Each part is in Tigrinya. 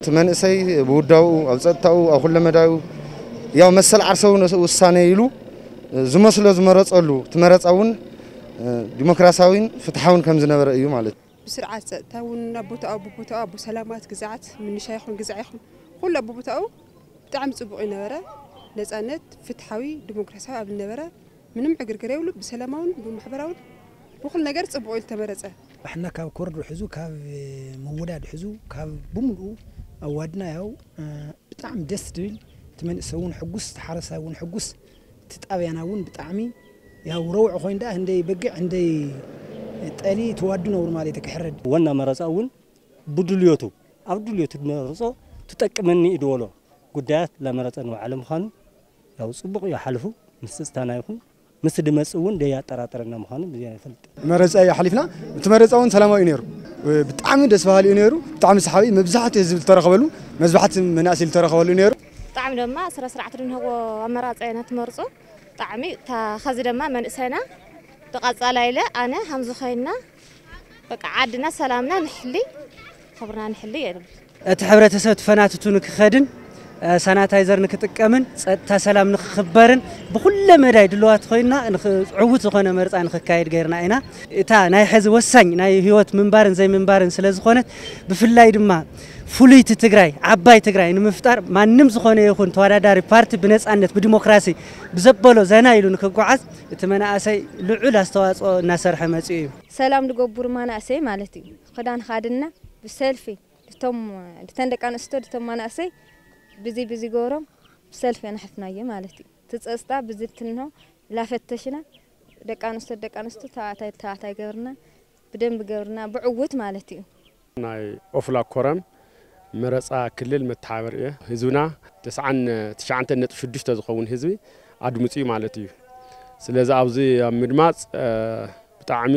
እቲ መንእሰይ ብውዳኡ፣ ኣብ ጸጥታኡ፣ ኣብ ኩለመዳዩ ያው መሰል ዓርሰዊ ውሳነ ኢሉ ዝመስሎ ዝመረጸሉ፣ እቲ መረጻ እውን ዲሞክራሲያዊን ፍትሓውን ከም ዝነበረ እዩ ማለት እዩ። ብስርዓት ጸጥታ እውን ኣብ ቦታኡ፣ ብቦታኡ፣ ኣብ ሰላማት ግዝኣት፣ ምንሻ ይኹን ግዝዓ ይኹን፣ ኩሉ ኣብ ቦታኡ ብጣዕሚ ጽቡቕ ይነበረ። ነጻነት፣ ፍትሓዊ፣ ዲሞክራሲያዊ ኣብ ዝነበረ፣ ምንም ዕግርግር የብሉ። ብሰላማውን ብማሕበራውን ብኹሉ ነገር ጽቡቕ ኢሉ ተመረጸ። ኣሕና ካብ ኮርዶ ሕዙ፣ ካብ ምውዳድ ሕዙ፣ ካብ ብምልኡ ኣዋድና ያው፣ እ፣ ብጣዕሚ ደስ ዝብል፣ እቲ መንእሰይ እውን ሕጉስ፣ እቲ ሓረስታይ እውን ሕጉስ፣ እቲ ጣብያና እውን ብጣዕሚ ያው ረውዒ ኮይኑ ደኣ፣ ህንደይ በጊዕ፣ ህንደይ ጠሊ ተዋዱ ነብሩ ማለት እዩ ክሕረድ። ዋና መረጻ እውን ብድልዮቱ፣ ኣብ ድልዮቱ ዝመረጾ ትጠቅመኒ እዩ ዝበሎ ጉዳያት ላመረጸ ንባዕሉ ምዃኑ ያው ጽቡቕ እዩ ሓልፉ። ምስ ጸጥታና ይኹን ምስ ድመጽእ እውን ደያጠራጠረና ምዃኑ ብዚኣ ይፈልጥ። መረጻ እዩ ሓሊፍና። እቲ መረጻ እውን ሰላማዊ እዩ ነይሩ። ብጣዕሚ ደስ በሃሊ እዩ ነይሩ። ብጣዕሚ ሰሓቢ፣ መብዛሕትኡ ህዝቢ ዝተረኸበሉ፣ መብዛሕትኡ መናእሰይ ዝተረኸበሉ እዩ ነይሩ። ብጣዕሚ ድማ ስረ ስርዓት ድንህዎ ኣመራጻ ኢና ትመርጹ። ብጣዕሚ እታ ኸዚ ድማ መንእሰይና ብቐጻላ ኢለ ኣነ ሃምዚ ኮይንና በቃ ዓድና ሰላምና ንሕሊ፣ ክብርና ንሕሊ የብል። እቲ ሕብረተሰብ ተፈናትቱ ንክኸድን፣ እ፣ ሳናታይዘር ንክጥቀምን፣ ጸጥታ ሰላም ንክኽበርን፣ ብኩለ መዳይ ድልዋት ኮይንና ንኽ-፣ ዕዉት ዝኾነ መርጻ ንክካየድ ገይርና ኢና። እታ ናይ ሕዚ ወሳኝ ናይ ህይወት ምንባርን ዘይምንባርን ስለ ዝኾነት፣ ብፍላይ ድማ ፍሉይቲ ትግራይ፣ ዓባይ ትግራይ ንምፍጣር ማንም ዝኾነ ይኹን ተወዳዳሪ ፓርቲ ብነጻነት፣ ብዲሞክራሲ፣ ብዘበሎ ዘና ኢሉ ንክጓዓዝ እቲ መናእሰይ ልዑል ኣስተዋጽኦ እናሰርሐ መጺኡ እዩ። ሰላም ዝገብሩ መናእሰይ ማለት እዩ። ክዳን ኻድና ብሰልፊ፣ ድቶም፣ ድተን ደቂ ኣንስትዮ፣ ድቶም መናእሰይ ብዚ፣ ብዚ ገሮም ብሰልፊ ኣናሕፍናዮ ማለት እዩ። እቲ ጸጽታ ብዚ ትንሆ ላፈተሽና፣ ደቂ ኣንስትዮ፣ ደቂ ኣንስትዮ፣ ተባዕታይ፣ ተባዕታይ ገብርና፣ ብደንብ ገብርና፣ ብዕውት ማለት እዩ። ናይ ኦፍላ ኮረም መረጻ ክልል መተሓባበሪ እየ። ህዝብና ተስዓን ትሽዓተ ነጥቢ ሽዱሽተ ዝኸውን ህዝቢ ኣድምጺ ማለት እዩ። ስለዚ ኣብዚ ኣብ ምድማጽ፣ እ፣ ብጣዕሚ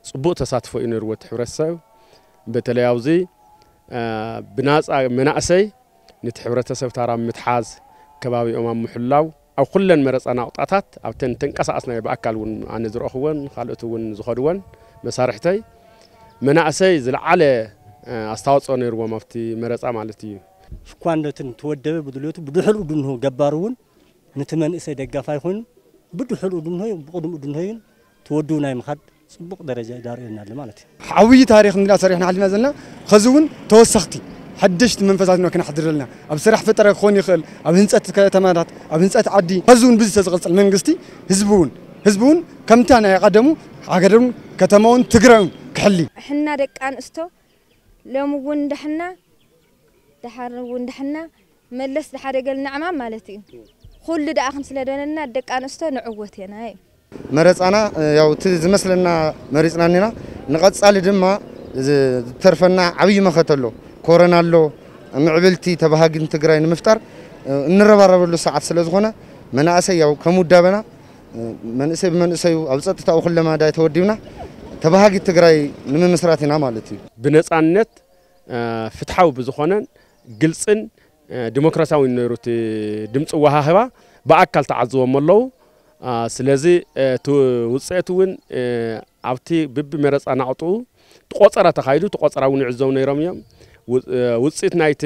ጽቡቕ ተሳትፎ እዩ ነይርዎ እቲ ሕብረተሰብ። በተለይ ኣብዚ፣ እ፣ ብናጻ መናእሰይ ነቲ ሕብረተሰብ ታራ ኣብ ምትሓዝ፣ ከባቢኦም ኣብ ምሕላው፣ ኣብ ኩለን መረጻ ናቑጣታት፣ ኣብተን ተንቀሳቐስናዮ ብኣካል እውን ኣነ ዝረእኽወን፣ ካልኦት እውን ዝኸድወን መሳርሕተይ፣ መናእሰይ ዝለዓለ፣ እ፣ ኣስተዋጽኦ ነይርዎም ኣብቲ መረጻ ማለት እዩ። ሽኳንዶትን ተወደበ ብድልዮቱ ብድሕሪኡ ድንሆ ገባር እውን ነቲ መንእሰይ ደጋፋይ ኮይኑ ብድሕሪኡ ድንሆ ብቕድሚኡ ድንሆ እውን ተወድቡ ናይ ምኻድ ጽቡቕ ደረጃ ዳርእየና ኣሎ ማለት እዩ። ዓብዪ ታሪኽ እንዲና ሰሪሕና ሓሊፍና ዘለና፣ ኸዚ እውን ተወሰኽቲ ሓደሽቲ መንፈሳት ኢና ክነሕድር ዘለና። ኣብ ስራሕ ፈጠራ ክኾን ይኽእል፣ ኣብ ህንጸት ከተማታት፣ ኣብ ህንጸት ዓዲ፣ ኸዚ እውን ብዚ ተዝቕጽል መንግስቲ ህዝቢ እውን፣ ህዝቢ እውን ከምታ ናይ ቀደሙ ሃገርን ከተማውን ትግራዩን ክሕሊ። ሕና ደቂ ኣንስቶ ሎሚ እውን እንዳሕና፣ ደሓር እውን እንዳሕና፣ መለስ ዝሓደገልና ዕማም ማለት እዩ። ኩሉ ደኣ ክንስለ ደለና ደቂ ኣንስቶ ንዕወት ኢና እዩ። መረጻና፣ እ፣ ያው እቲ ዝመስለና መሪጽና እኒና። ንቐጻሊ ድማ ዝ-፣ ዝተርፈና ዓብዪ መኸተ ኣሎ። ኮረና ኣሎ። ምዕብልቲ ተባሃጊን ትግራይ ንምፍጣር፣ እ፣ እንረባረበሉ ሰዓት ስለ ዝኾነ መናእሰይ ያው ከም ውዳበና፣ እ፣ መንእሰይ ብመንእሰዩ ኣብ ጸጥታኡ ኩለመዳይ ተወዲብና ተባሃጊት ትግራይ ንምምስራት ኢና ማለት እዩ። ብነጻነት፣ እ፣ ፍትሓዊ ብዝኾነን ግልጽን፣ እ፣ ዲሞክራሲያዊን ነይሩ እቲ ድምፂ ወሃህባ። ብኣካል ተዓዝቦም ኣለዉ። እ፣ ስለዚ፣ እ፣ እቲ ውፅኢት እውን፣ እ፣ ኣብቲ ብቢ መረፃ ናቕጥኡ ቆፀራ ተኻይዱ፣ እቲ ቆፀራ እውን ይዕዘቡ ነይሮም እዮም። ው-፣ እ፣ ውፅኢት ናይቲ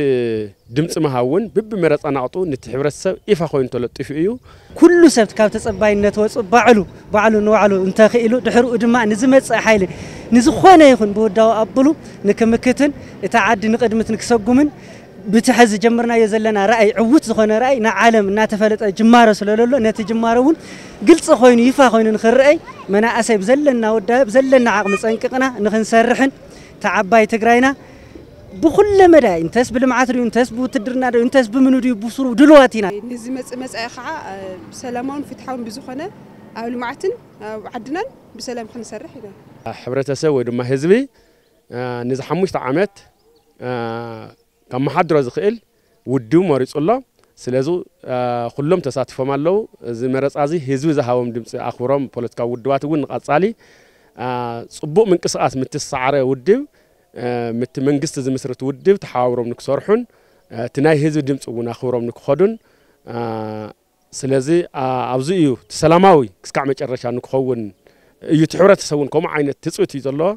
ድምፂ ምሃብ እውን ብቢ መረፃ ናቕጥኡ ነቲ ሕብረተሰብ ይፋ ኮይኑ ተለጢፉ እዩ። ኩሉ ሰብ ካብ ተጸባይነት ወጹ ባዕሉ፣ ባዕሉ ንባዕሉ እንተኽኢሉ፣ ድሕሪኡ ድማ ንዝመጽእ ሓይሊ ንዝኾነ ይኹን ብውዳዊ ኣብሉ ንክምክትን እታ ዓዲ ንቕድሚት ንክሰጉምን ብቲ ሕዚ ጀምርናዮ ዘለና ራእይ፣ ዕዉት ዝኾነ ራእይ ንዓለም እናተፈለጠ ጅማሮ ስለ ዘሎ፣ ነቲ ጅማሮ እውን ግልጺ ኮይኑ፣ ይፋ ኮይኑ ንክረኣይ መናእሰይ ብዘለና ውዳበ፣ ብዘለና ዓቕሚ ጸንቂቕና ንክንሰርሕን እታ ዓባይ ትግራይና ብኹለ መዳይ፣ እንተስ ብልምዓት ድዩ፣ እንተስ ብውትድርና ድዩ፣ እንተስ ብምኑ ድዩ፣ ብስሩ ድልዋት ኢና። ንዝመጽእ መጻኢ ኸዓ፣ እ፣ ብሰላማውን ፍትሓውን ብዝኾነ ኣብ ልምዓትን ኣብ ዓድናን ብሰላም ክንሰርሕ ኢና። ሕብረተሰብ ወይ ድማ ህዝቢ፣ እ፣ ንዚ ሓሙሽተ ዓመት፣ እ፣ ከመሓድሮ ዝኽእል ውድብ መሪጹ ኣሎ። ስለዚ፣ እ፣ ኩሎም ተሳቲፎም ኣለዉ። እዚ መረጻ እዚ ህዝቢ ዝሃቦም ድምጺ ኣኽብሮም ፖለቲካዊ ውድባት እውን ንቐጻሊ፣ እ፣ ጽቡቕ ምንቅስቓስ ምትስሳዓረ ውድብ፣ እ፣ ምት መንግስቲ ዝምስርት ውድብ ተሓባብሮም ንክሰርሑን፣ እ፣ እቲ ናይ ህዝቢ ድምጺ እውን ኣኽብሮም ንክኸዱን፣ እ፣ ስለዚ፣ እ፣ ኣብዚ እዩ እቲ ሰላማዊ ክስካዕ መጨረሻ ንክኸውን እዩ። እቲ ሕብረተሰብ እውን ከምኡ ዓይነት ትጽቢት እዩ ዘለዎ።